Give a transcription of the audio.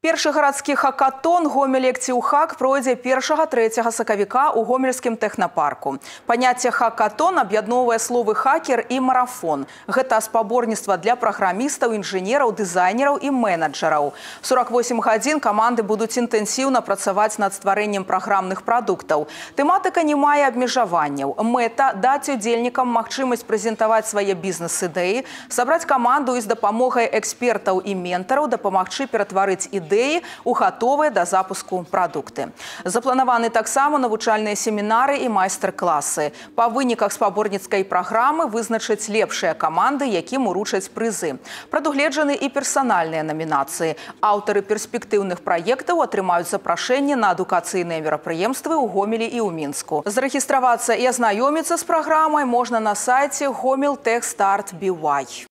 Першы гарадскі хакатон «Гомель-Ектіўхак» пройдзе 1-3 сакавіка ў гомельскім тэхнапарку. Паняцце хакатон аб'ядноўвае словы хакер і марафон. Гэта спаборніцтва для праграмістаў, інжынераў, дызайнераў і менеджераў. 48 гадзін каманды будуць інтэнсіўна працаваць над стварэннем праграмных прадуктаў. Тэматыка не мае абмежаванняў. Мэта – даць удзельнікам магчымасць прэзентаваць свае бізнес-ідэі, сабраць каманду і з дапамогай экспертаў і ментараў дапамагчы ператварыць ідэі ў гатовыя да запуску прадукты. Запланаваны таксама навучальныя семінары і майстар-класы. Па выніках спаборніцкай праграмы вызначаць лепшыя каманды, якім уручаць прызы. Прадугледжаны і персанальныя намінацыі. Аўтары перспектыўных праектаў атрымаюць запрашэнне на адукацыйныя мерапрыемствы ў Гомелі і ў Мінску. Зарэгістравацца і азнаёміцца з праграмай можна на сайце Gomel Tech Start BY.